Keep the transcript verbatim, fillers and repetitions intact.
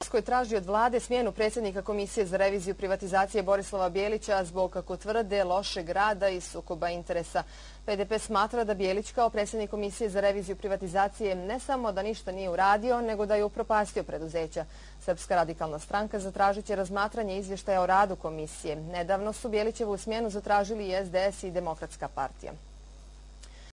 koji traži od vlade smjenu predsjednika Komisije za reviziju privatizacije Borislava Bijelića zbog, kako tvrde, lošeg rada i sukoba interesa. P D P smatra da Bijelić kao predsjednik Komisije za reviziju privatizacije ne samo da ništa nije uradio, nego da je upropastio preduzeća. Srpska radikalna stranka zatražit će razmatranje izvještaja o radu komisije. Nedavno su Bijelićevu smjenu zatražili i S D S i Demokratska partija.